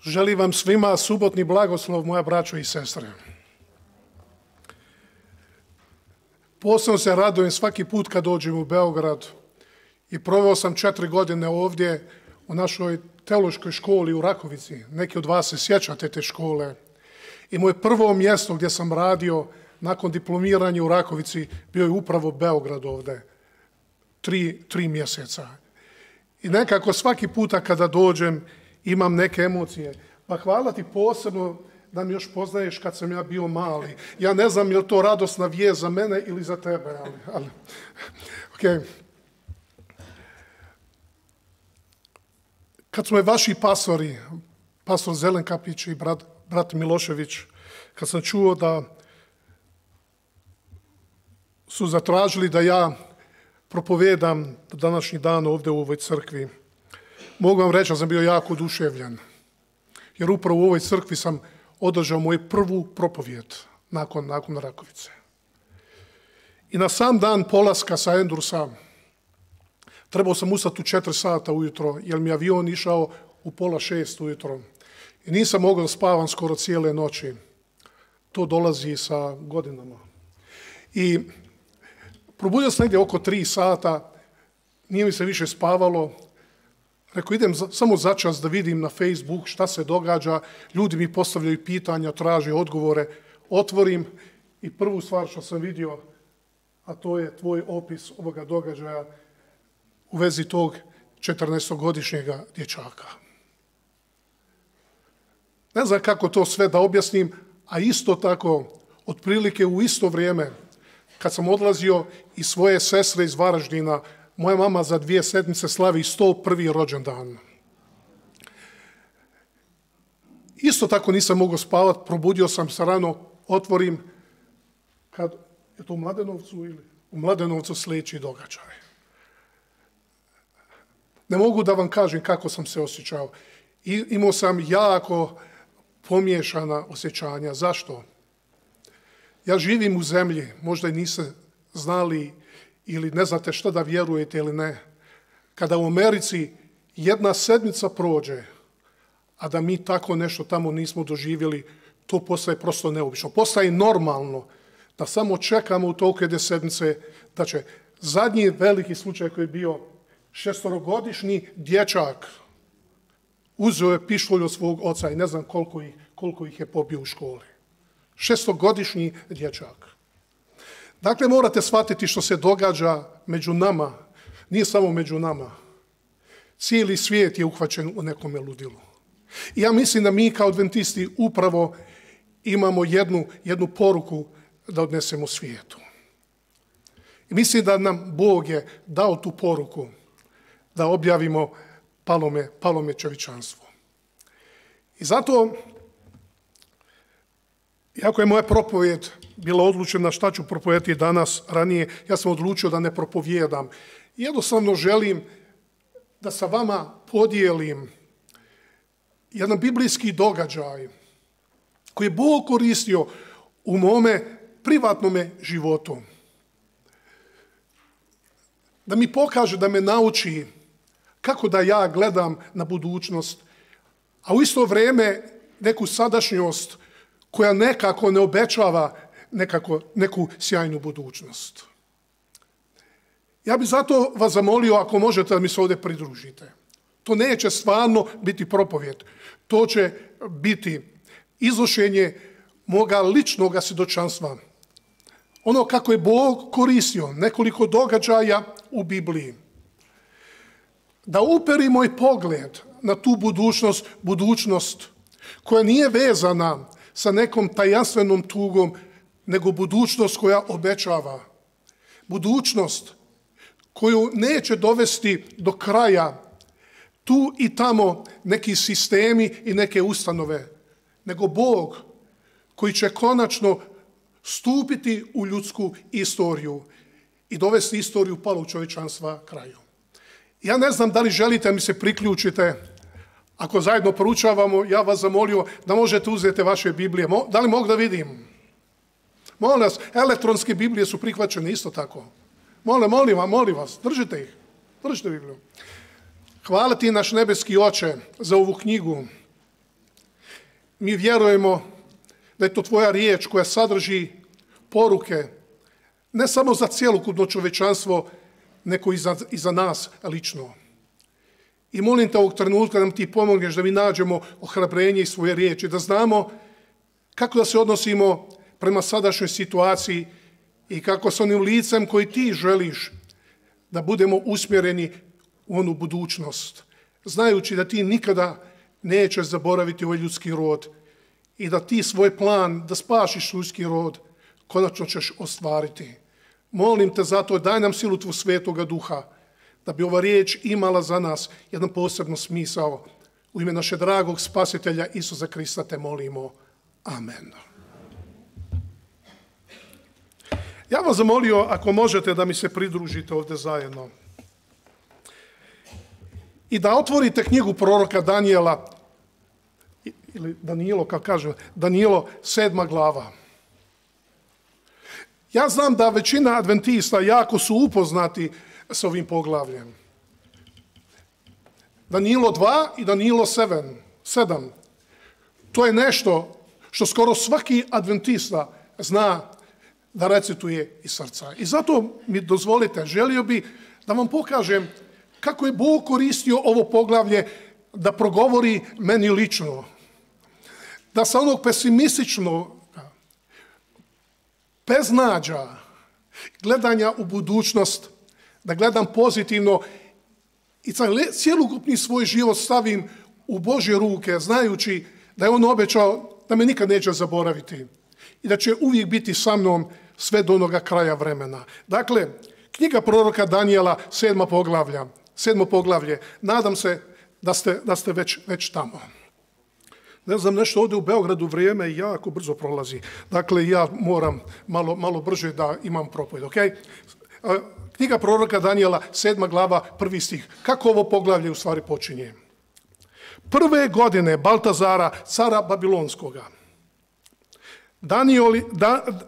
Želim vam svima subotni blagoslov, moja braćo i sestre. Posebno se radujem svaki put kad dođem u Beograd i proveo sam 4 godine ovdje u našoj teološkoj školi u Rakovici. Neki od vas se sjećate te škole. I moje prvo mjesto gdje sam radio nakon diplomiranja u Rakovici bio je upravo Beograd ovdje. 3 mjeseca. I nekako svaki puta kada dođem imam neke emocije. Pa hvala ti posebno da mi još poznaješ kad sam ja bio mali. Ja ne znam je li to radosna vijest za mene ili za tebe. Okay. Kad su me vaši pastori, pastor Zelenkapić i brat Milošević, kad sam čuo da su zatražili da ja propovedam današnji dan ovdje u ovoj crkvi, mogu vam reći da sam bio jako oduševljen. Jer upravo u ovoj crkvi sam održao moju prvu propovijed nakon Rakovice. I na sam dan polaska sa Endursa trebao sam ustati u 4 sata ujutro, jer mi avion išao u 5:30 ujutro. I nisam mogao da spavam skoro cijele noći. To dolazi sa godinama. I probudio sam negdje oko 3 sata, nije mi se više spavalo. Rekao, idem samo začas da vidim na Facebook šta se događa, ljudi mi postavljaju pitanja, traže odgovore, otvorim i prvu stvar što sam vidio, a to je tvoj opis ovoga događaja u vezi tog 14-godišnjega dječaka. Ne znam kako to sve da objasnim, a isto tako, otprilike u isto vrijeme, kad sam odlazio iz svoje sestre iz Varaždina, moja mama za 2 sedmice slavi 101. rođendan. Isto tako nisam mogao spavati, probudio sam se rano, otvorim, kad je to u Mladenovcu ili u Mladenovcu sljedeći događaj. Ne mogu da vam kažem kako sam se osjećao. Imao sam jako pomiješana osjećanja. Zašto? Ja živim u zemlji, možda i niste znali ili ne znate što da vjerujete ili ne, kada u Americi 1 sedmica prođe, a da mi tako nešto tamo nismo doživjeli, to postaje prosto neobično. Postaje normalno da samo čekamo u toliko 1 sedmice da će zadnji veliki slučaj koji je bio 6-godišnji dječak uzeo je pištolj od svog oca i ne znam koliko ih je pobio u školi. 6-godišnji dječak. Dakle, morate shvatiti što se događa među nama, nije samo među nama. Cijeli svijet je uhvaćen u nekome ludilu. I ja mislim da mi kao adventisti upravo imamo jednu poruku da odnesemo svijetu. I mislim da nam Bog je dao tu poruku da objavimo palome čovječanstvo. I zato, iako je moja propovijed bila odlučena šta ću propovijedati danas ranije, ja sam odlučio da ne propovijedam. Jednostavno želim da sa vama podijelim jedan biblijski događaj koji je Bog koristio u mome privatnome životu. Da mi pokaže, da me nauči kako da ja gledam na budućnost, a u isto vrijeme neku sadašnjost koja nekako ne obećava neku sjajnu budućnost. Ja bih zato vas zamolio, ako možete, da mi se ovdje pridružite. To neće stvarno biti propovijed. To će biti iznošenje moga ličnog svjedočanstva. Ono kako je Bog koristio nekoliko događaja u Bibliji. Da uperi moj pogled na tu budućnost koja nije vezana sa nekom tajanstvenom tugom, nego budućnost koja obećava. Budućnost koju neće dovesti do kraja tu i tamo neki sistemi i neke ustanove, nego Bog koji će konačno stupiti u ljudsku istoriju i dovesti istoriju palog čovječanstva kraju. Ja ne znam da li želite mi se priključite. Ako zajedno proučavamo, ja vas zamolio da možete uzeti vaše Biblije. Da li mogu da vidim? Molim vas, elektronske Biblije su prihvaćene isto tako. Molim vas, držite ih. Držite Bibliju. Hvala ti, naš nebeski Oče, za ovu knjigu. Mi vjerujemo da je to tvoja riječ koja sadrži poruke, ne samo za cjelokupno čovječanstvo, nego i za nas lično. I molim te ovog trenutka da nam ti pomogneš da mi nađemo ohrabrenje i svoje riječi, da znamo kako da se odnosimo prema sadašnjoj situaciji i kako s onim licem koji ti želiš da budemo usmjereni u onu budućnost, znajući da ti nikada nećeš zaboraviti ovaj ljudski rod i da ti svoj plan da spasiš ljudski rod konačno ćeš ostvariti. Molim te zato, daj nam silu tvog Svetoga Duha, da bi ova riječ imala za nas jedan posebno smisao. U ime našeg dragog Spasitelja Isusa Krista te molimo. Amen. Ja vas zamolio, ako možete, da mi se pridružite ovdje zajedno i da otvorite knjigu proroka Danijela, ili Danilo, kako kaže, Danilo 7. glava. Ja znam da većina adventista jako su upoznati s ovim poglavljem. Danilo 2 i Danilo 7. To je nešto što skoro svaki adventista zna da recituje iz srca. I zato mi dozvolite, želio bi da vam pokažem kako je Bog koristio ovo poglavlje da progovori meni lično. Da sa onog pesimističnog, beznađa, gledanja u budućnost, da gledam pozitivno i cjelokupni svoj život stavim u Božje ruke, znajući da je on obećao da me nikad neće zaboraviti i da će uvijek biti sa mnom sve do onoga kraja vremena. Dakle, knjiga proroka Danijela, 7. poglavlje. Nadam se da ste već tamo. Ne znam, nešto ovdje u Beogradu vrijeme jako brzo prolazi. Dakle, ja moram malo brže da imam propovjed, ok? Knjiga proroka Danijela, 7. glava, 1. stih. Kako ovo poglavlje u stvari počinje? Prve godine Baltazara, cara Babilonskoga,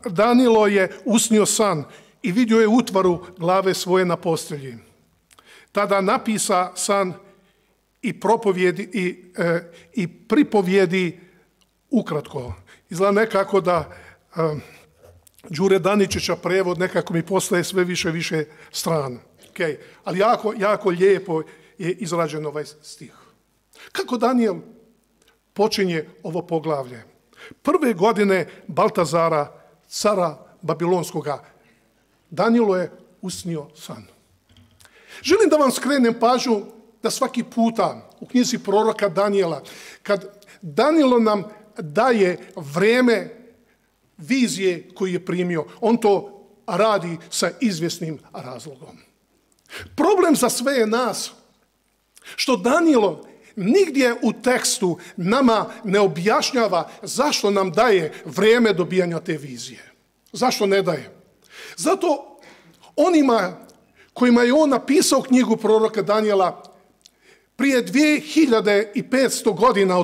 Danilo je usnio san i vidio je utvaru glave svoje na postelji. Tada napisa san i pripovjedi ukratko. Izgleda nekako da Đure Daničića prevod nekako mi postaje sve više stran. Okay. Ali jako lijepo je izrađen ovaj stih. Kako Danijel počinje ovo poglavlje? Prve godine Baltazara, cara Babilonskoga, Danilo je usnio san. Želim da vam skrenem pažnju da svaki puta u knjizi proroka Danijela, kad Danilo nam daje vreme vizije koju je primio, on to radi sa izvjesnim razlogom. Problem za sve je nas što Danilo nigdje u tekstu nama ne objašnjava zašto nam daje vrijeme dobijanja te vizije. Zašto ne daje? Zato onima kojima je on napisao knjigu proroka Danijela prije 2500 godina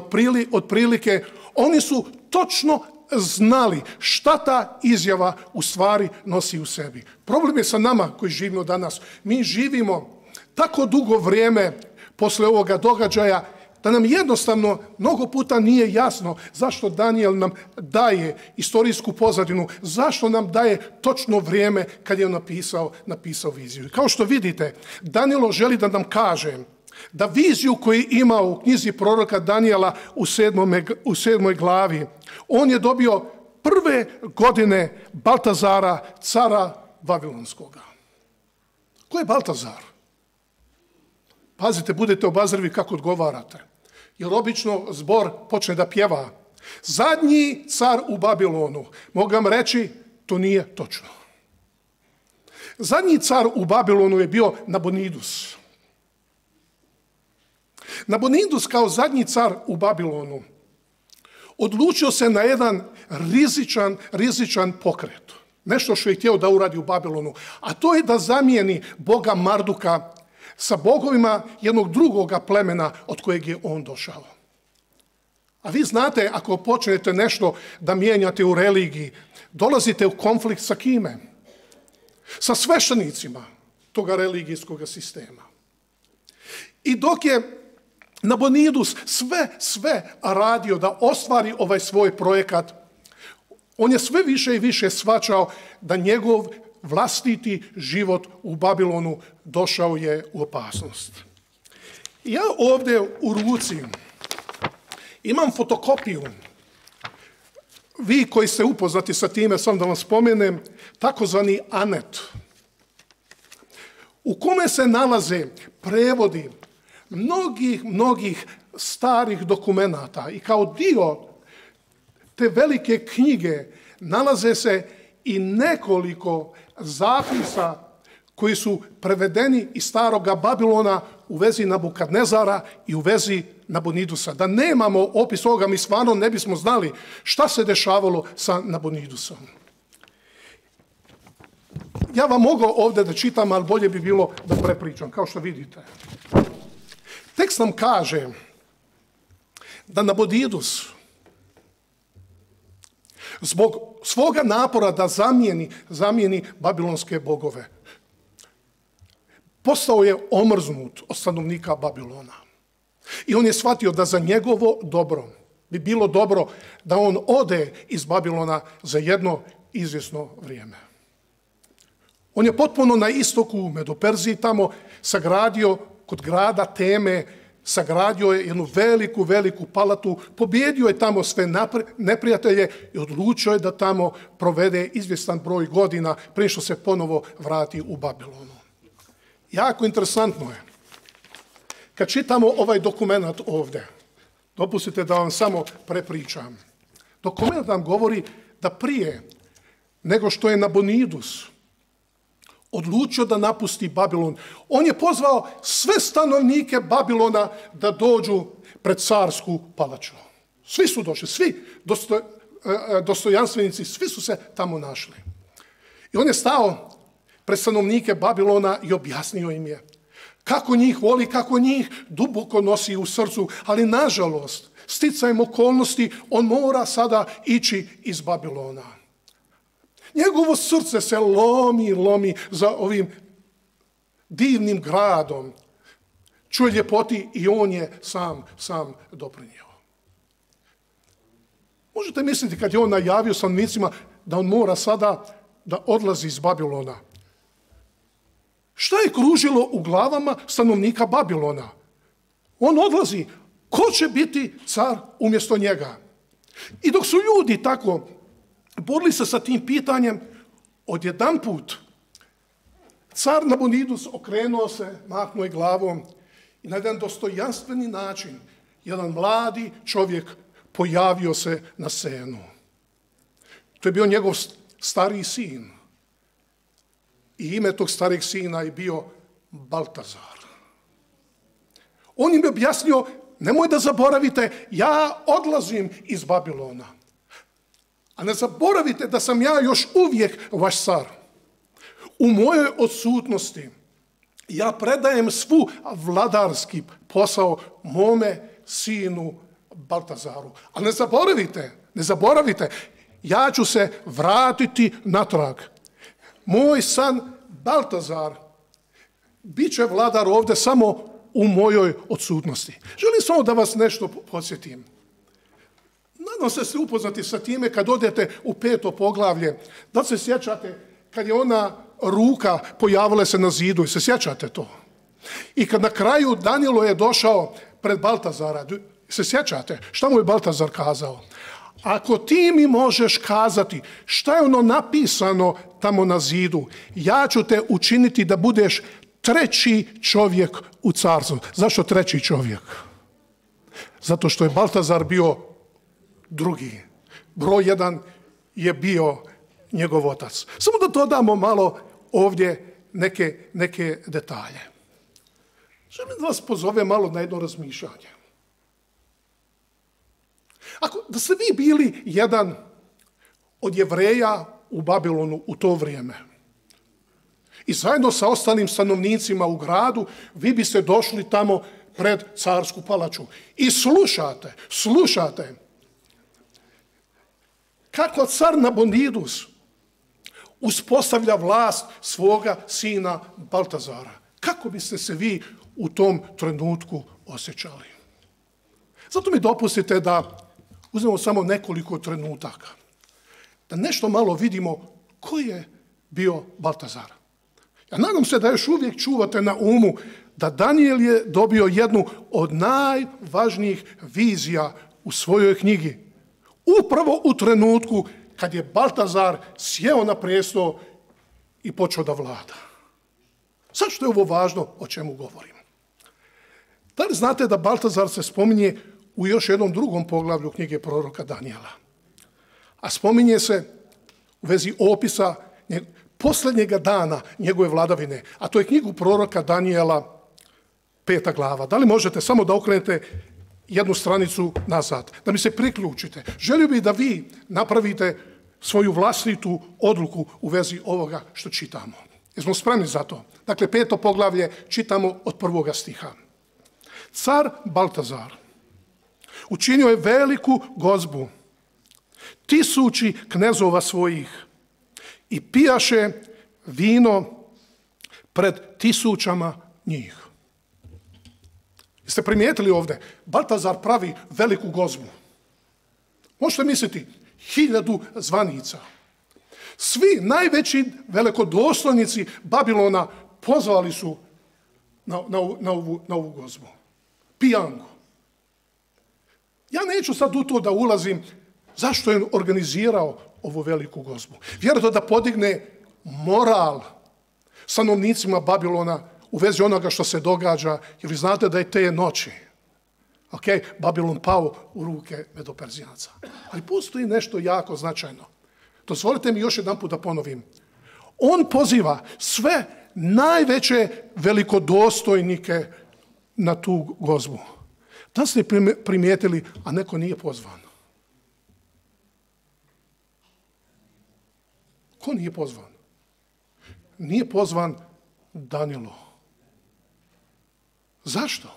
otprilike, oni su točno znali šta ta izjava u stvari nosi u sebi. Problem je sa nama koji živimo danas. Mi živimo tako dugo vrijeme posle ovoga događaja da nam jednostavno mnogo puta nije jasno zašto Danijel nam daje istorijsku pozadinu, zašto nam daje točno vrijeme kad je on napisao viziju. Kao što vidite, Danilo želi da nam kaže da viziju koju je imao u knjizi proroka Danijela u 7. glavi, on je dobio prve godine Baltazara, cara Vavilonskoga. Ko je Baltazar? Pazite, budete obazrivi kako odgovarate. Jer obično zbor počne da pjeva. Zadnji car u Babilonu. Mogu vam reći, to nije točno. Zadnji car u Babilonu je bio Nabonidus. Nabonidus kao zadnji car u Babilonu odlučio se na jedan rizičan pokret. Nešto što je htio da uradi u Babilonu. A to je da zamijeni boga Marduka sa bogovima jednog drugoga plemena od kojeg je on došao. A vi znate, ako počnete nešto da mijenjate u religiji, dolazite u konflikt sa kime? Sa sveštenicima toga religijskog sistema. I dok je Nabonidus sve radio da ostvari ovaj svoj projekat. On je sve više i više shvaćao da njegov vlastiti život u Babilonu došao je u opasnost. Ja ovdje u ruci imam fotokopiju. Vi koji ste upoznati sa time, sam da vam spomenem, takozvani anet, u kome se nalaze prevodi mnogih starih dokumenata i kao dio te velike knjige nalaze se i nekoliko zapisa koji su prevedeni iz staroga Babilona u vezi Nabukadnezara i u vezi Nabonidusa. Da nemamo opis ovoga, mi stvarno ne bismo znali šta se dešavalo sa Nabonidusom. Ja vam mogu ovdje da čitam, ali bolje bi bilo da prepričam, kao što vidite. Tekst nam kaže da Nabonidus zbog svoga napora da zamijeni babilonske bogove postao je omrznut od stanovnika Babilona. I on je shvatio da za njegovo dobro bi bilo dobro da on ode iz Babilona za jedno izvjesno vrijeme. On je potpuno na istoku u Medoperziji tamo sagradio kod grada Teme, sagradio je jednu veliku palatu, pobjedio je tamo sve neprijatelje i odlučio je da tamo provede izvjestan broj godina prije što se ponovo vrati u Babilonu. Jako interesantno je. Kad čitamo ovaj dokument ovdje, dopustite da vam samo prepričam. Dokument nam govori da prije nego što je Nabonidus odlučio da napusti Babilon, on je pozvao sve stanovnike Babilona da dođu pred carsku palaču. Svi su došli, svi dostojanstvenici, svi su se tamo našli. I on je stao pred stanovnike Babilona i objasnio im je kako njih voli, kako njih duboko nosi u srcu, ali nažalost, sticajem okolnosti, on mora sada ići iz Babilona. Njegovo srce se lomi za ovim divnim gradom. Čuje ljepoti i on je sam doprinio. Možete misliti kad je on najavio stanovnicima da on mora sada da odlazi iz Babilona. Šta je kružilo u glavama stanovnika Babilona? On odlazi. Ko će biti car umjesto njega? I dok su ljudi tako borili se sa tim pitanjem, odjedanput car Nabonidus okrenuo se, mahnuo je glavom i na jedan dostojanstveni način jedan mladi čovjek pojavio se na scenu. To je bio njegov stariji sin. I ime tog starijeg sina je bio Baltazar. On im je objasnio, nemoj da zaboravite, ja odlazim iz Babilona. A ne zaboravite da sam ja još uvijek vaš car. U mojoj odsutnosti ja predajem svu vladarski posao mome sinu Baltazaru. A ne zaboravite, ja ću se vratiti natrag. Moj san Baltazar bit će vladar ovdje samo u mojoj odsutnosti. Želim samo da vas nešto podsjetim. Nadam se ste upoznati sa time kad odete u 5. poglavlje. Da se sjećate kad je ona ruka pojavila se na zidu i se sjećate to? I kad na kraju Danilo je došao pred Baltazara, se sjećate? Šta mu je Baltazar kazao? Ako ti mi možeš kazati šta je ono napisano tamo na zidu, ja ću te učiniti da budeš treći čovjek u carstvu. Zašto treći čovjek? Zato što je Baltazar bio drugi. Broj 1 je bio njegov otac. Samo da dodamo malo ovdje neke detalje. Želim da vas pozovem malo na jedno razmišljanje. Da ste vi bili jedan od Jevreja u Babilonu u to vrijeme i zajedno sa ostalim stanovnicima u gradu, vi biste došli tamo pred carsku palaču i slušate kako car Nabonidus uspostavlja vlast svoga sina Baltazara. Kako biste se vi u tom trenutku osjećali? Zato mi dopustite da uzmemo samo nekoliko trenutaka, da nešto malo vidimo ko je bio Baltazar. Ja nadam se da još uvijek čuvate na umu da Danijel je dobio jednu od najvažnijih vizija u svojoj knjigi. Upravo u trenutku kad je Baltazar sjeo na prestol i počeo da vlada. Zašto je ovo važno o čemu govorim? Da li znate da Baltazar se spominje u još jednom drugom poglavlju knjige proroka Danijela? A spominje se u vezi opisa posljednjega dana njegove vladavine, a to je knjigu proroka Danijela 5. glava. Da li možete samo da okrenete jednu stranicu nazad, da mi se priključite? Želio bih da vi napravite svoju vlastitu odluku u vezi ovoga što čitamo. Jesmo spremni za to? Dakle, 5. poglavlje čitamo od 1. stiha. Car Baltazar učinio je veliku gozbu, 1000 knezova svojih, i pijaše vino pred 1000 njih. Jeste primijetili ovdje? Baltazar pravi veliku gozbu. Možete misliti, 1000 zvanica. Svi najveći velikodostojnici Babilona pozvali su na ovu gozbu. Pijangu. Ja neću sad u to da ulazim zašto je organizirao ovu veliku gozbu. Vjerojatno da podigne moral stanovnicima Babilona u vezi onoga što se događa, jer vi znate da je te noći Babilon pao u ruke Medoperzijanaca. Ali postoji nešto jako značajno. Dozvolite mi još jedan put da ponovim. On poziva sve najveće velikodostojnike na tu gozbu. Da ste primijetili, a neko nije pozvan? Ko nije pozvan? Nije pozvan Danilo. Zašto?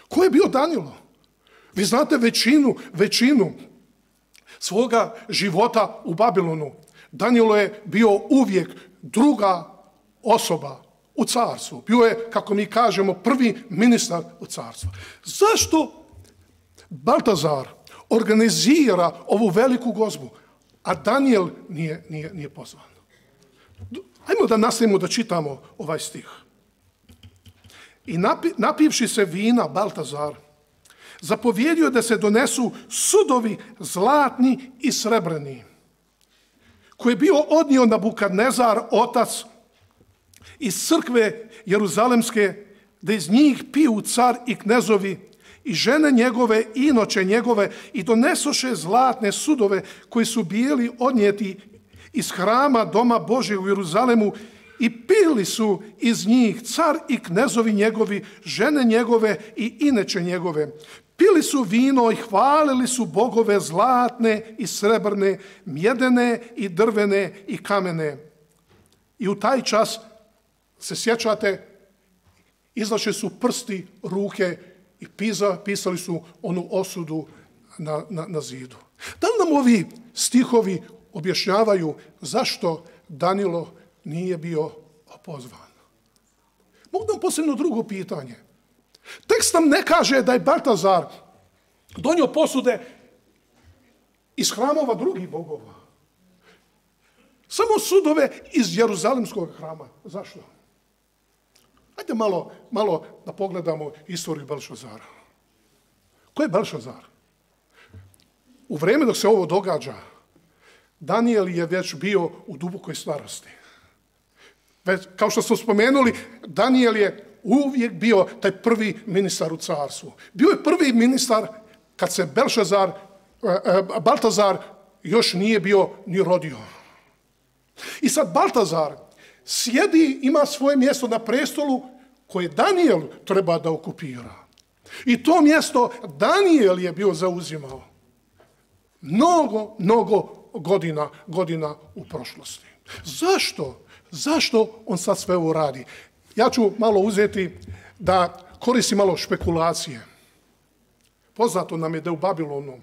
Ko je bio Danilo? Vi znate većinu svoga života u Babilonu. Danilo je bio uvijek druga osoba u carstvu. Bio je, kako mi kažemo, prvi ministar u carstvu. Zašto Baltazar organizira ovu veliku gozbu, a Danijel nije pozvan? Ajmo da nastavimo da čitamo ovaj stih. I napivši se vina Baltazar, zapovjedio da se donesu sudovi zlatni i srebrni, koji je bio odnio Nabukadnezar, otac, iz crkve Jeruzalemske, da iz njih piju car i knezovi i žene njegove i inoče njegove, i donesoše zlatne sudove koji su bili odnijeti iz hrama Doma Božjeg u Jeruzalemu, i pili su iz njih car i knezovi njegovi, žene njegove i inače njegove. Pili su vino i hvalili su bogove zlatne i srebrne, mjedene i drvene i kamene. I u taj čas, se sjećate, izlaše su prsti, ruke i pisali su onu osudu na zidu. Da li nam ovi stihovi objašnjavaju zašto Danilo nije bio pozvan? Mogu nam posebno drugo pitanje. Tekst nam ne kaže da je Baltazar donio posude iz hramova drugih bogova. Samo sudove iz Jeruzalemskog hrama. Zašto? Hajde malo da pogledamo istoriju Belšazara. Ko je Belšazar? U vrijeme dok se ovo događa, Danijel je već bio u dubokoj starosti. Kao što smo spomenuli, Danijel je uvijek bio taj prvi ministar u carstvu. Bio je prvi ministar kad se Baltazar još nije bio ni rodio. I sad Baltazar sjedi, ima svoje mjesto na prestolu koje Danijel treba da okupira. I to mjesto Danijel je bio zauzimao mnogo godina u prošlosti. Zašto on sad sve ovo radi? Ja ću malo uzeti da koristim malo špekulacije. Poznato nam je da u Babilonu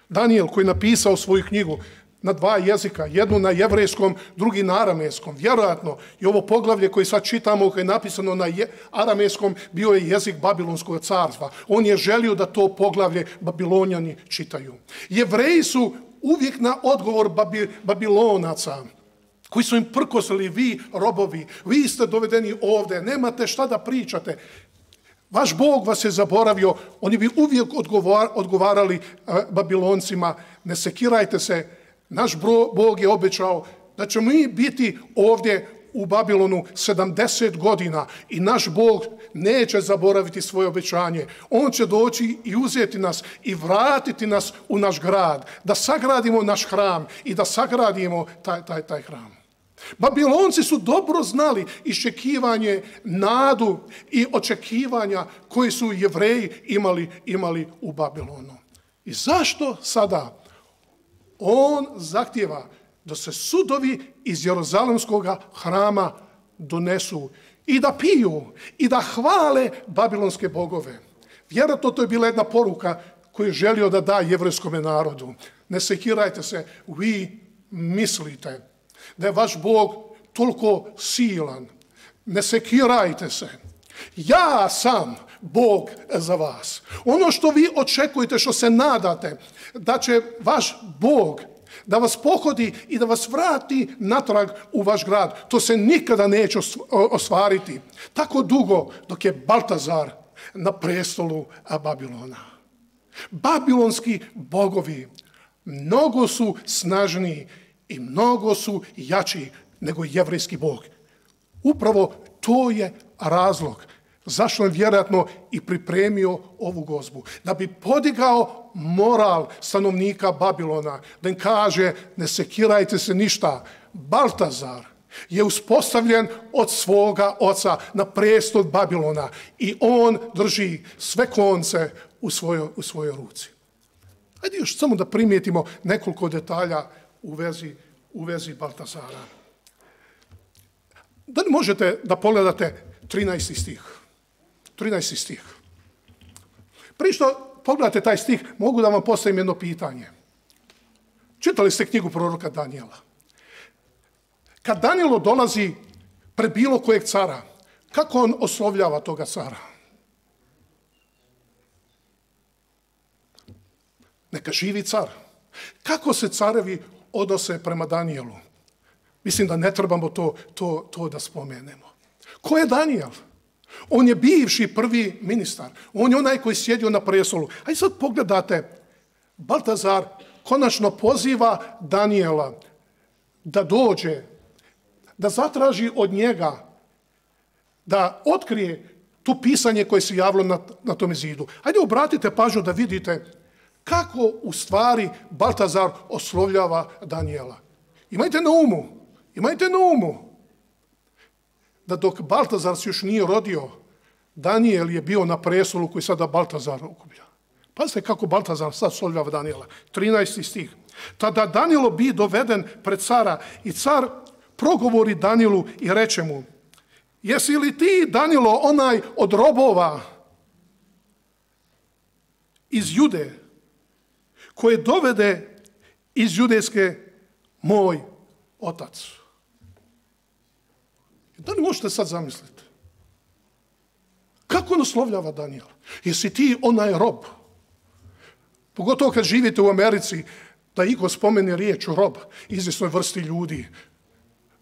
Danijel, koji je napisao svoju knjigu, na dva jezika, jednu na jevrejskom, drugi na aramejskom. Vjerojatno i ovo poglavlje koje sad čitamo, koje je napisano na aramejskom, bio je jezik Babilonskog carstva. On je želio da to poglavlje Babilonjani čitaju. Jevreji su uvijek na odgovor Babilonaca, koji su im prkosili: vi robovi, vi ste dovedeni ovdje, nemate šta da pričate. Vaš Bog vas je zaboravio. Oni bi uvijek odgovarali Babiloncima: ne sekirajte se, naš Bog je obećao da ćemo mi biti ovdje u Babilonu 70 godina i naš Bog neće zaboraviti svoje obećanje. On će doći i uzeti nas i vratiti nas u naš grad, da sagradimo naš hram i da sagradimo taj hram. Babilonci su dobro znali iščekivanje, nadu i očekivanja koji su Jevreji imali u Babilonu. I zašto sada on zahtijeva da se sudovi iz Jeruzalemskog hrama donesu i da piju i da hvale babilonske bogove? Vjerojatno to je bila jedna poruka koju je želio da da jevrejskom narodu. Ne sekirajte se, vi mislite da je vaš Bog toliko silan. Ne sekirajte se. Ja sam Bog za vas. Ono što vi očekujete, što se nadate, da će vaš Bog da vas pohodi i da vas vrati natrag u vaš grad, to se nikada neće ostvariti. Tako dugo dok je Baltazar na prestolu Babilona. Babilonski bogovi mnogo su snažniji i mnogo su jači nego jevrejski Bog. Upravo to je razlog zašto je vjerojatno i pripremio ovu gozbu. Da bi podigao moral stanovnika Babilona, da im kaže: ne sekirajte se ništa. Baltazar je uspostavljen od svoga oca na prestol Babilona i on drži sve konce u svojoj ruci. Hajde još samo da primijetimo nekoliko detalja u vezi Baltazara. Da li možete da pogledate 13. stih? 13. stih. Prije što pogledate taj stih, mogu da vam postavim jedno pitanje. Čitali ste knjigu proroka Danijela. Kad Danijelo dolazi pred bilo kojeg cara, kako on oslovljava toga cara? Neka živi car. Kako se carevi odnose prema Danijelu? Mislim da ne trebamo to da spomenemo. Ko je Danijel? On je bivši prvi ministar. On je onaj koji sjedio na prestolu. A i sad pogledate, Baltazar konačno poziva Danijela da dođe, da zatraži od njega da otkrije to pisanje koje se javilo na tome zidu. Hajde obratite pažnju da vidite kako u stvari Baltazar oslovljava Danijela. Imajte na umu da dok Baltazar se još nije rodio, Danijel je bio na prestolu koji sada Baltazar okuplja. Pazite kako Baltazar sad oslovljava Danijela. 13. stih. Tada Danijelo bi doveden pred cara i car progovori Danijelu i reče mu: jesi li ti, Danijelo, onaj od robova iz Jude, koje dovede iz judejske moj otac? Da li možete sad zamisliti? Kako on oslovljava Danijela? Jesi ti onaj rob? Pogotovo kad živite u Americi, da iko spomene riječ rob izvjesnoj vrsti ljudi.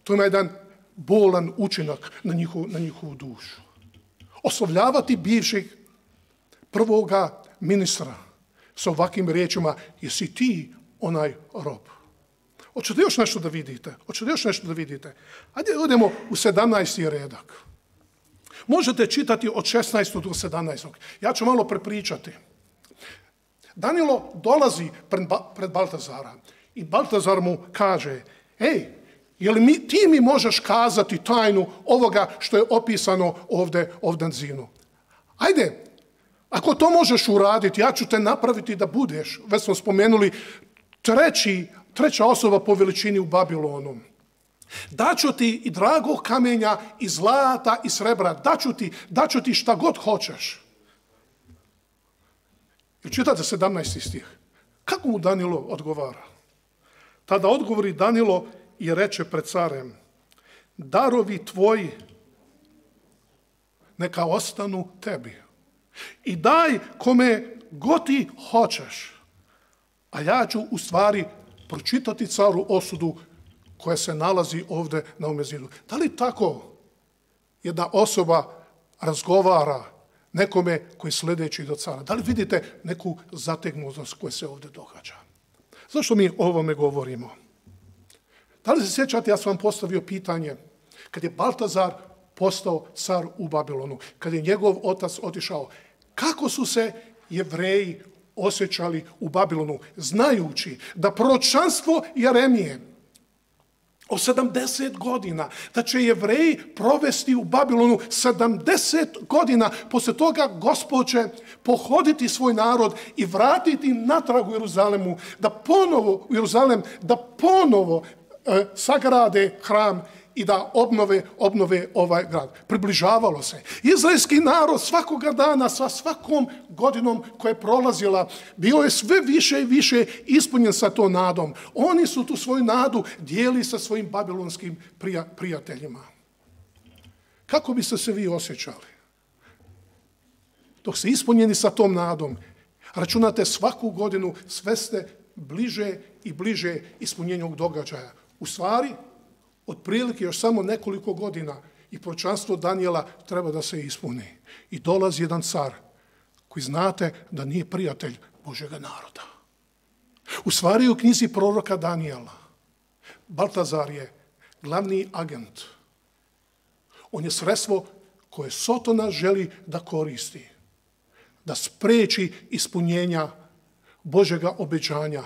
To ima jedan bolan učinak na njihovu dušu. Oslovljavati bivšeg prvoga ministra sa ovakvim riječima: jesi ti onaj rob? Hoćete još nešto da vidite? Ajde, odemo u 17. redak. Možete čitati od 16. do 17. Ja ću malo prepričati. Danijelo dolazi pred Baltazara i Baltazar mu kaže: ej, ti mi možeš kazati tajnu ovoga što je opisano ovdje na zinu? Ajde, ako to možeš uraditi, ja ću te napraviti da budeš, već smo spomenuli, treća osoba po veličini u Babilonu. Daću ti i dragog kamenja, i zlata, i srebra. Daću ti šta god hoćeš. I čitate 17. stih. Kako mu Danijelo odgovara? Tada odgovori Danilo i reče pred carem: darovi tvoji neka ostanu tebi i daj kome god ti hoćeš, a ja ću u stvari pročitati caru osudu koja se nalazi ovdje na ovome zidu. Da li tako jedna osoba razgovara nekome koji sledeći do cara? Da li vidite neku zategnutost koja se ovdje događa? Zašto mi o ovome govorimo? Da li se sjećate, ja sam vam postavio pitanje, kad je Baltazar postao car u Babilonu, kad je njegov otac otišao, kako su se Jevreji osjećali u Babilonu, znajući da proročanstvo Jeremije o 70 godina, da će Jevreji provesti u Babilonu 70 godina, poslije toga Gospod će pohoditi svoj narod i vratiti natrag u Jeruzalemu, da ponovo sagrade hram i da obnove ovaj grad. Približavalo se. Izraelski narod svakoga dana, sa svakom godinom koja je prolazila, bio je sve više i više ispunjen sa tom nadom. Oni su tu svoju nadu dijeli sa svojim babilonskim prijateljima. Kako biste se vi osjećali? Dok ste ispunjeni sa tom nadom, računate svaku godinu, sve ste bliže i bliže ispunjenju ovog događaja. U stvari, otprilike još samo nekoliko godina i proročanstvo Danijela treba da se ispuni. I dolazi jedan car koji znate da nije prijatelj Božjega naroda. U stvari u knjizi proroka Danijela Baltazar je glavni agent. On je sredstvo koje Sotona želi da koristi, da spreči ispunjenja Božjega obećanja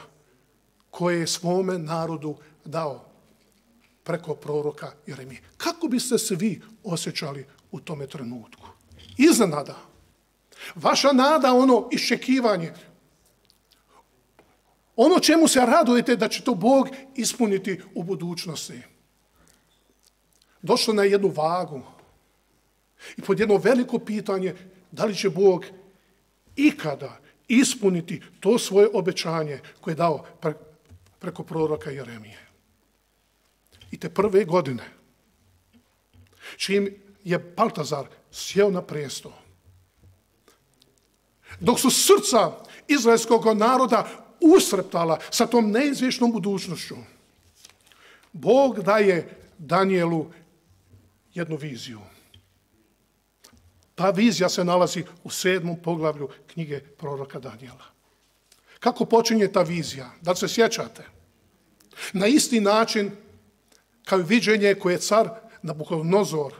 koje je svome narodu dao preko proroka Jeremije. Kako biste se vi osjećali u tome trenutku? Iznenada. Vaša nada, ono iščekivanje, ono čemu se radujete da će to Bog ispuniti u budućnosti. Došlo na jednu vagu i pod jedno veliko pitanje da li će Bog ikada ispuniti to svoje obećanje koje je dao preko proroka Jeremije. I te prve godine, čim je Baltazar sjeo na presto, dok su srca izraelskog naroda usreptala sa tom neizvješnom budućnošću, Bog daje Danijelu jednu viziju. Ta vizija se nalazi u 7. poglavlju knjige proroka Danijela. Kako počinje ta vizija? Da li se sjećate? Na isti način kao i viđenje koje je car Nabukodonozor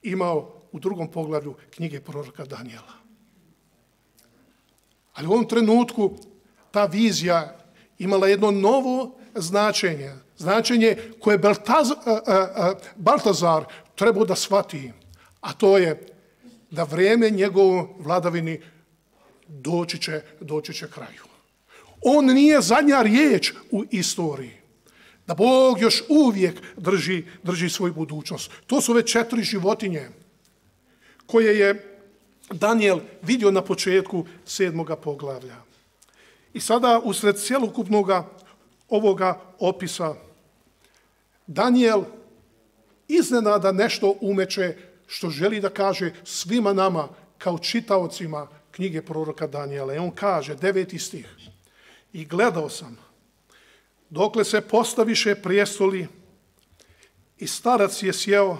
imao u 2. poglavlju knjige proroka Danijela. Ali u ovom trenutku ta vizija imala jedno novo značenje. Značenje koje Baltazar trebao da shvati, a to je da vrijeme njegovo vladavini doći će kraju. On nije zadnja riječ u istoriji. Da Bog još uvijek drži svoju budućnost. To su već 4 životinje koje je Danijel vidio na početku 7. poglavlja. I sada usred cjelokupnog ovoga opisa Danijel iznenada nešto umeće što želi da kaže svima nama kao čitaocima knjige proroka Danijela. I on kaže, 9. stih: i gledao sam dokle se postaviše prijestoli i starac je sjeo,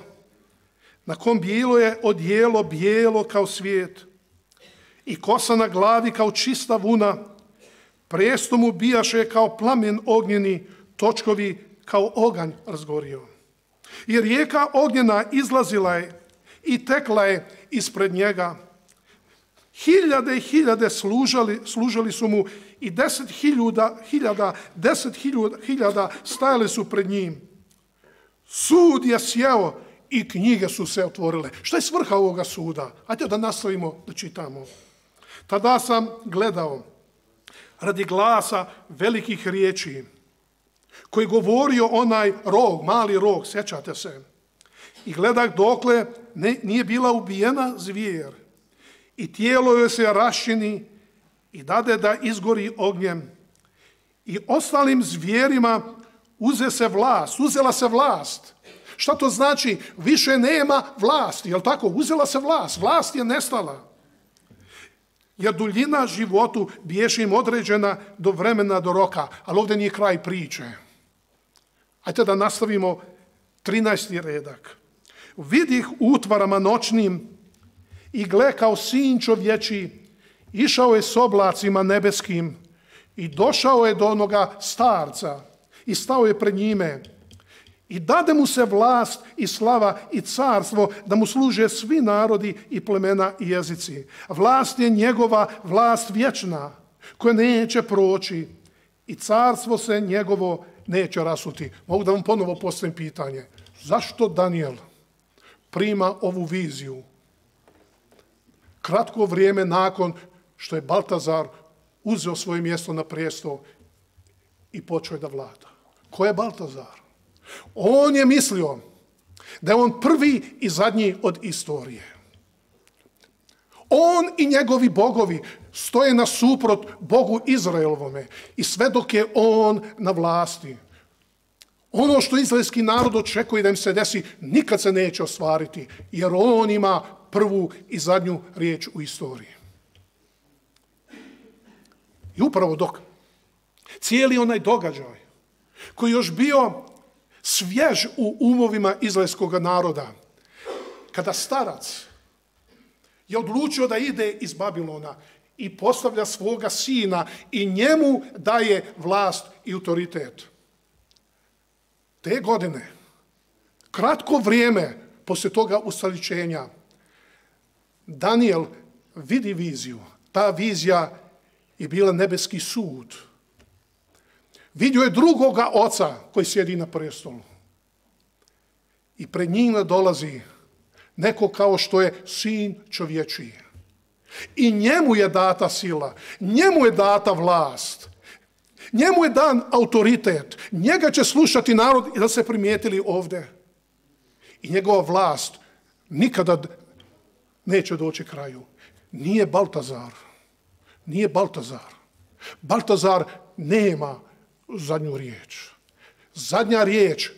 na kom bilo je odijelo bijelo kao svijet i kosa na glavi kao čista vuna, prijesto mu bijaše kao plamen ognjeni, točkovi kao oganj razgorio. I rijeka ognjena izlazila je i tekla je ispred njega. Hiljade i hiljade služali su mu i 10.000 stajali su pred njim. Sud je sjeo i knjige su se otvorile. Šta je svrha ovoga suda? Hajde da nastavimo da čitamo. Tada sam gledao radi glasa velikih riječi koji govorio onaj rog, mali rog, sjećate se. I gledah dokle nije bila ubijena zvijer i tijelo joj se raščini i dade da izgori ognjem i ostalim zvijerima uzela se vlast. Šta to znači? Više nema vlasti, jel tako? Uzela se vlast, vlast je nestala. Jer duljina životu biješe im određena do vremena, do roka, ali ovdje nije kraj priče. Ajde da nastavimo 13. redak. Vidih utvarama noćnim i gle kao sin čovječi, išao je s oblacima nebeskim i došao je do onoga starca i stao je pred njime. I dade mu se vlast i slava i carstvo da mu služe svi narodi i plemena i jezici. Vlast je njegova, vlast vječna, koja neće proći i carstvo se njegovo neće rasuti. Mogu da vam ponovo postavim pitanje. Zašto Danijel prima ovu viziju kratko vrijeme nakon što je Baltazar uzeo svoje mjesto na prijestol i počeo je da vlada? Ko je Baltazar? On je mislio da je on prvi i zadnji od istorije. On i njegovi bogovi stoje nasuprot Bogu Izraelovome i sve dok je on na vlasti. Ono što izraelski narod očekuje da im se desi nikad se neće ostvariti, jer on ima prvu i zadnju riječ u istoriji. I upravo dok cijeli onaj događaj koji još bio svjež u umovima izraelskog naroda, kada starac je odlučio da ide iz Babilona i postavlja svoga sina i njemu daje vlast i autoritet. Te godine, kratko vrijeme poslije toga ustoličenja, Danijel vidi viziju. Ta vizija je bila nebeski sud. Vidio je drugoga oca koji sjedi na prestolu. I pred njima dolazi neko kao što je sin čovječiji. I njemu je data sila, njemu je data vlast, njemu je dan autoritet. Njega će slušati narod i da se primijetili ovdje. I njegova vlast nikada neće doći kraju. Nije Baltazar. Nije Baltazar. Baltazar nema zadnju riječ. Zadnja riječ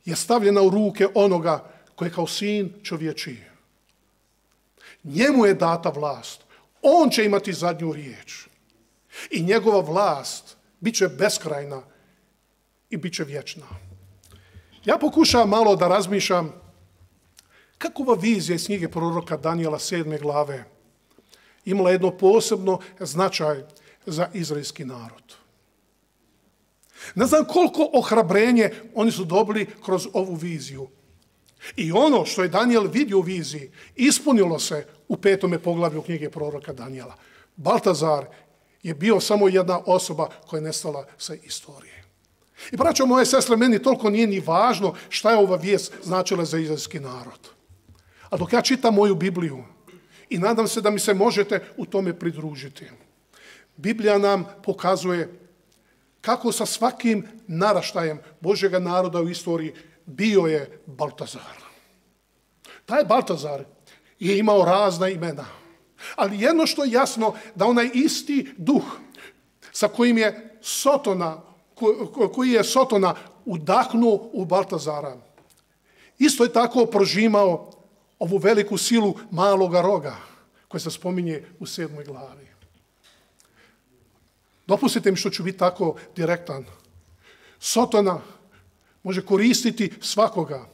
je stavljena u ruke onoga koji je kao sin čovječiji. Njemu je data vlast. On će imati zadnju riječ. I njegova vlast bit će beskrajna i bit će vječna. Ja pokušavam malo da razmišljam kako ova vizija iz knjige proroka Danijela 7. glave imala jedno posebno značaj za izraelski narod. Ne znam koliko ohrabrenje oni su dobili kroz ovu viziju. I ono što je Danijel vidio u viziji ispunilo se u 5. poglavlju knjige proroka Danijela. Baltazar je bio samo jedna osoba koja je nestala sa istorije. I braćo moje sestre, meni toliko nije ni važno šta je ova vijest značila za izraelski narod. A dok ja čitam moju Bibliju i nadam se da mi se možete u tome pridružiti, Biblija nam pokazuje kako sa svakim naraštajem Božjega naroda u istoriji bio je Baltazar. Taj Baltazar je imao razna imena. Ali jedno što je jasno, da onaj isti duh sa kojim je Sotona, koji je Sotona udahnuo u Baltazara, isto je tako prožimao ovu veliku silu maloga roga koja se spominje u 7. glavi. Dopustite mi što ću biti tako direktan. Sotona može koristiti svakoga.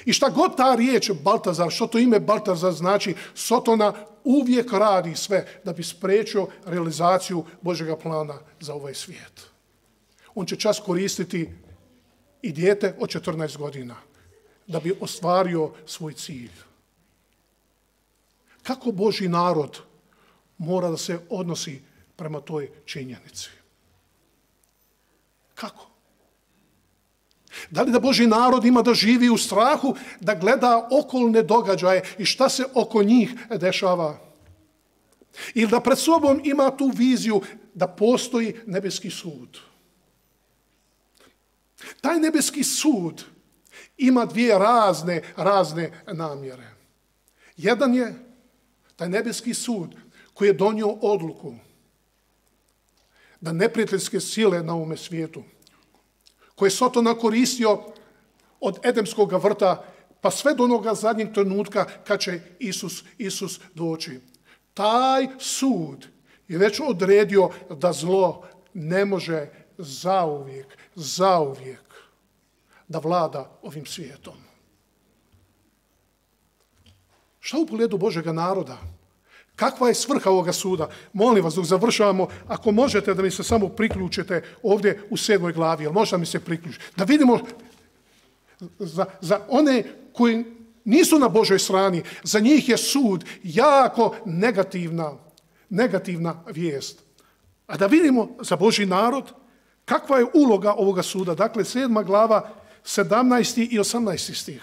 I šta god ta riječ Baltazar, što to ime Baltazar znači, Sotona uvijek radi sve da bi spriječio realizaciju Božjega plana za ovaj svijet. On će čas koristiti i dijete od 14 godina da bi ostvario svoj cilj. Kako Božji narod mora da se odnosi prema toj činjenici? Kako? Da li da Božji narod ima da živi u strahu, da gleda okolne događaje i šta se oko njih dešava? Ili da pred sobom ima tu viziju da postoji nebeski sud? Taj nebeski sud ima dvije razne namjere. Jedan je taj nebeski sud koji je donio odluku da neprijateljske sile na ovome svijetu, koje je Sotona koristio od Edemskog vrta pa sve do onoga zadnjeg trenutka kad će Isus doći. Taj sud je već odredio da zlo ne može zauvijek da vlada ovim svijetom. Šta u pogledu Božjega naroda? Kakva je svrha ovoga suda? Molim vas, dok završavamo, ako možete da mi se samo priključite ovdje u 7. glavi, ali možda mi se priključiti, da vidimo za one koji nisu na Božoj strani, za njih je sud jako negativna vijest. A da vidimo za Božji narod kakva je uloga ovoga suda. Dakle, 7. glava, 17. i 18. stih.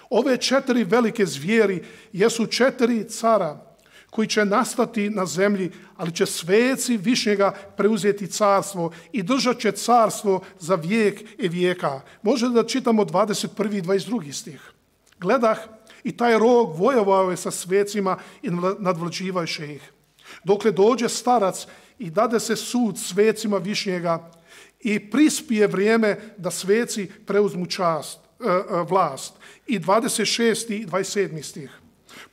Ove 4 velike zvijeri jesu 4 cara koji će nastati na zemlji, ali će sveci Višnjega preuzeti carstvo i držat će carstvo za vijek i vijeka. Može da čitamo 21. i 22. stih. Gledah, i taj rog vojovao je sa svecima i nadvlađivaše ih. Dokle dođe starac i dade se sud svecima Višnjega i prispije vrijeme da sveci preuzmu vlast. I 26. i 27. stih.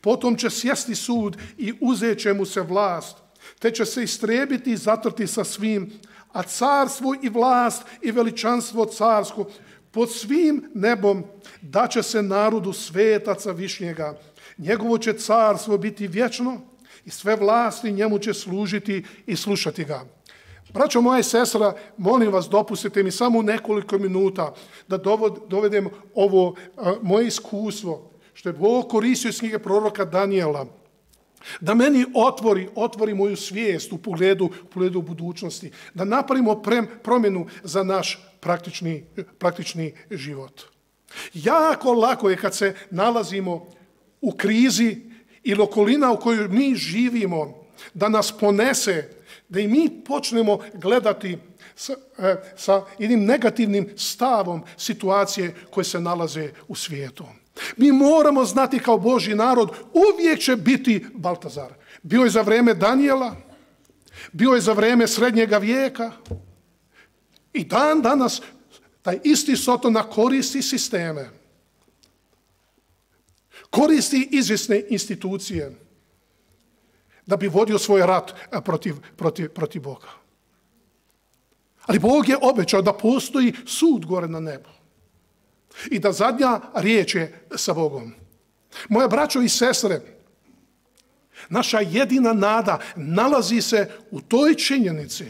Potom će sjesti sud i uzet će mu se vlast, te će se istrebiti i zatrti sa svim, a carstvo i vlast i veličanstvo carsko pod svim nebom daće se narodu svetaca Višnjega. Njegovo će carstvo biti vječno i sve vlasti njemu će služiti i slušati ga. Braćo moja i sestra, molim vas, dopustite mi samo nekoliko minuta da dovedem ovo moje iskustvo, što je Bog koristio iz knjige proroka Danijela, da meni otvori moju svijest u pogledu budućnosti, da napravimo promjenu za naš praktični život. Jako lako je kad se nalazimo u krizi ili okolina u kojoj mi živimo, da nas ponese, da i mi počnemo gledati sa jednim negativnim stavom situacije koje se nalaze u svijetu. Mi moramo znati kao Božji narod, uvijek će biti Baltazar. Bio je za vrijeme Danijela, bio je za vrijeme Srednjega vijeka i dan danas taj isti Sotona koristi sisteme, koristi izvjesne institucije da bi vodio svoj rat protiv Boga. Ali Bog je obećao da postoji sud gore na nebu i da zadnja riječ je sa Bogom. Moje braćo i sestre, naša jedina nada nalazi se u toj činjenici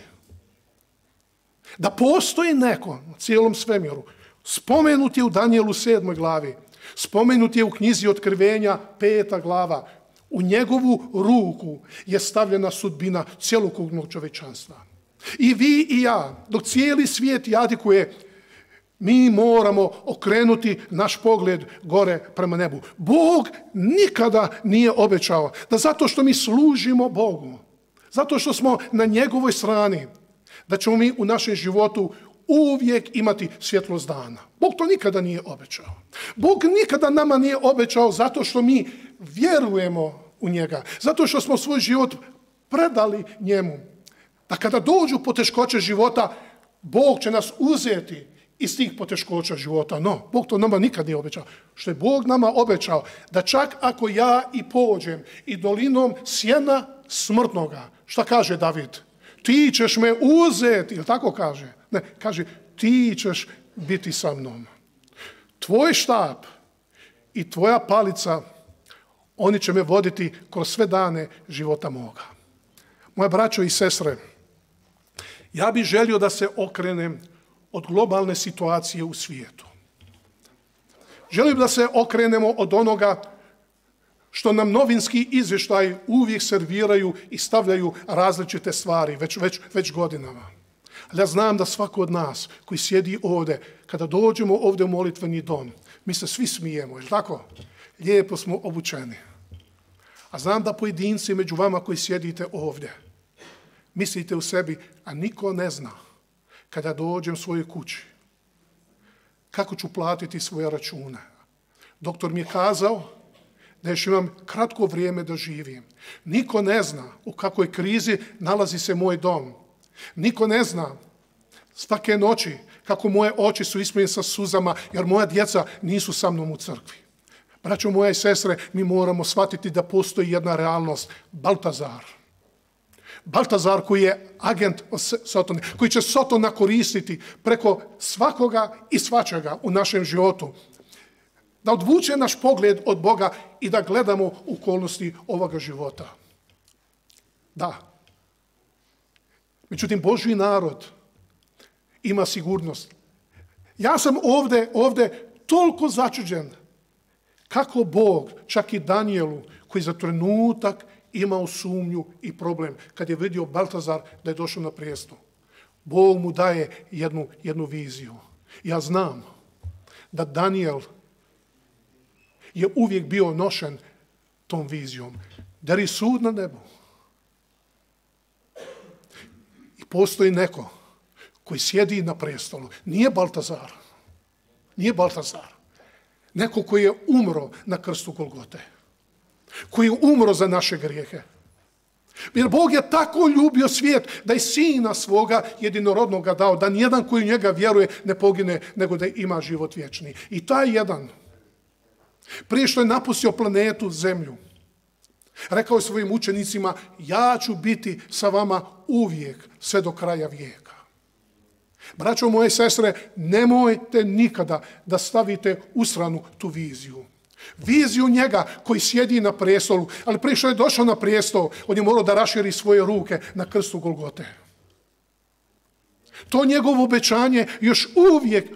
da postoji neko u cijelom svemiru. Spomenut je u Danijelu 7. glavi, spomenut je u knjizi Otkrivenja 5. glava. U njegovu ruku je stavljena sudbina cjelokupnog čovječanstva. I vi i ja, dok cijeli svijet jadikuje, mi moramo okrenuti naš pogled gore prema nebu. Bog nikada nije obećao da zato što mi služimo Bogu, zato što smo na njegovoj strani, da ćemo mi u našem životu uvijek imati svjetlost dana. Bog to nikada nije obećao. Bog nikada nama nije obećao zato što mi vjerujemo u njega, zato što smo svoj život predali njemu. Da kada dođu poteškoće života, Bog će nas uzeti iz tih poteškoća života. No, Bog to nama nikad nije obećao. Što je Bog nama obećao, da čak ako ja i pođem i dolinom sjena smrtnoga, šta kaže David? Ti ćeš me uzeti, ili tako kaže? Ne, kaže, ti ćeš biti sa mnom. Tvoj štap i tvoja palica, oni će me voditi kroz sve dane života moga. Moje braćo i sestre, ja bih želio da se okrenem od globalne situacije u svijetu. Želim da se okrenemo od onoga što nam novinski izvještaj uvijek serviraju i stavljaju različite stvari već godinama. Ali ja znam da svako od nas koji sjedi ovdje, kada dođemo ovdje u molitveni dom, mi se svi smijemo, je tako? Lijepo smo obučeni. A znam da pojedinci među vama koji sjedite ovdje, mislite u sebi, a niko ne zna kada dođem svojoj kući kako ću platiti svoje račune. Doktor mi je kazao da još imam kratko vrijeme da živim. Niko ne zna u kakvoj krizi nalazi se moj dom. Niko ne zna svake noći, kako moje oči su ispunjene sa suzama, jer moja djeca nisu sa mnom u crkvi. Braćo moje i sestre, mi moramo shvatiti da postoji jedna realnost. Baltazar. Baltazar koji je agent Sotona, koji će Sotona koristiti preko svakoga i svačega u našem životu. Da odvuče naš pogled od Boga i da gledamo okolnosti ovoga života. Da. Međutim, Božji narod ima sigurnost. Ja sam ovdje toliko začuđen kako Bog, čak i Danijelu, koji za trenutak imao sumnju i problem, kad je vidio Baltazar da je došao na prijestol. Bog mu daje jednu viziju. Ja znam da Danijel je uvijek bio nošen tom vizijom. Jer je sud na nebu. I postoji neko koji sjedi na prestolu. Nije Baltazar. Nije Baltazar. Neko koji je umro na krstu Golgote. Koji je umro za naše grijehe. Jer Bog je tako ljubio svijet da je sina svoga jedinorodnoga dao, da nijedan koji u njega vjeruje ne pogine, nego da ima život vječni. I taj jedan, prije što je napustio planetu Zemlju, rekao je svojim učenicima, ja ću biti sa vama uvijek, sve do kraja vijeka. Braćo moje sestre, nemojte nikada da stavite u stranu tu viziju. Viziju njega koji sjedi na prijestolu, ali prije što je došao na prijestol, on je morao da raširi svoje ruke na krstu Golgote. To njegovo obećanje još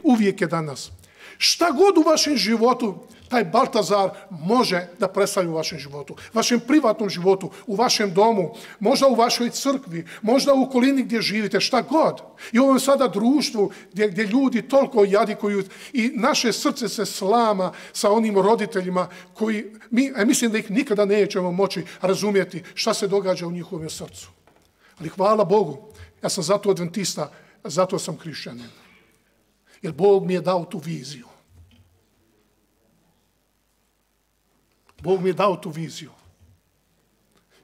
uvijek je danas. Šta god u vašem životu taj Baltazar može da predstavlja u vašem životu, vašem privatnom životu, u vašem domu, možda u vašoj crkvi, možda u okolini gdje živite, šta god. I u ovom sada društvu gdje ljudi toliko jadikuju i naše srce se slama sa onim roditeljima koji, mislim da ih nikada nećemo moći razumjeti šta se događa u njihovom srcu. Ali hvala Bogu, ja sam zato adventista, zato sam hrišćanin. Jer Bog mi je dao tu viziju. Bog mi je dao tu viziju.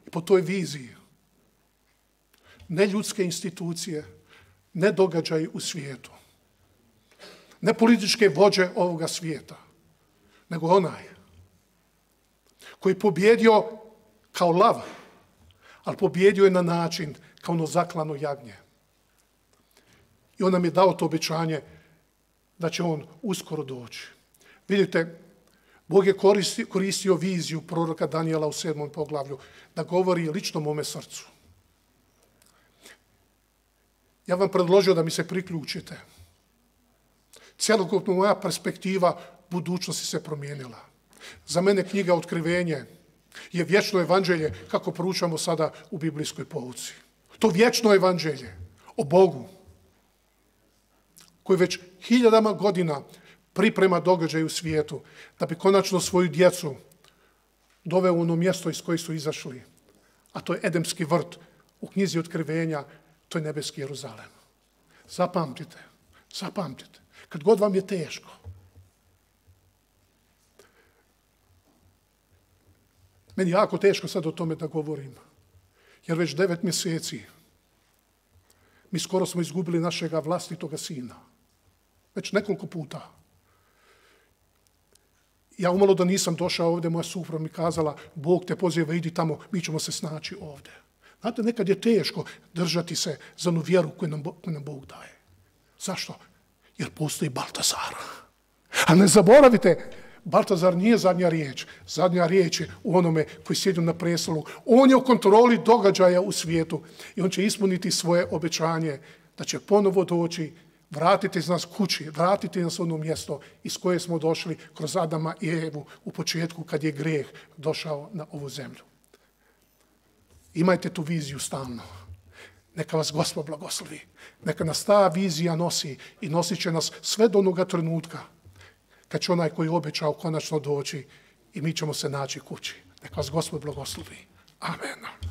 I po toj viziji ne ljudske institucije, ne događaji u svijetu, ne političke vođe ovoga svijeta, nego onaj koji je pobjedio kao lav, ali pobjedio je na način kao ono zaklano jagnje. I on nam je dao to obećanje da će on uskoro doći. Vidite, Bog je koristio viziju proroka Danijela u 7. poglavlju da govori lično mome srcu. Ja vam predložio da mi se priključite. Cjelokupno moja perspektiva budućnosti se promijenila. Za mene knjiga Otkrivenje je vječno evanđelje kako proučamo sada u biblijskoj pouci. To vječno evanđelje o Bogu koji već hiljadama godina priprema događaj u svijetu, da bi konačno svoju djecu doveo u ono mjesto iz koje su izašli. A to je Edemski vrt u knjizi Otkrivenja, to je nebeski Jeruzalem. Zapamtite, zapamtite, kad god vam je teško. Meni je jako teško sad o tome da govorim, jer već 9 mjeseci mi skoro smo izgubili našega vlastitoga sina. Već nekoliko puta. Ja umalo da nisam došao ovdje, moja supruga mi kazala, Bog te poziva, idi tamo, mi ćemo se snaći ovdje. Znate, nekad je teško držati se za onu vjeru koju nam Bog daje. Zašto? Jer postoji Baltazar. A ne zaboravite, Baltazar nije zadnja riječ. Zadnja riječ je u onome koji sjedi na prestolu. On je u kontroli događaja u svijetu i on će ispuniti svoje obećanje da će ponovo doći, vratiti nas kući, vratiti nas u ono mjesto iz koje smo došli kroz Adama i Evu u početku kad je grijeh došao na ovu zemlju. Imajte tu viziju stalno. Neka vas Gospod blagoslovi. Neka nas ta vizija nosi i nosit će nas sve do onoga trenutka kad će onaj koji je obećao konačno doći i mi ćemo se naći kući. Neka vas Gospod blagoslovi. Amen.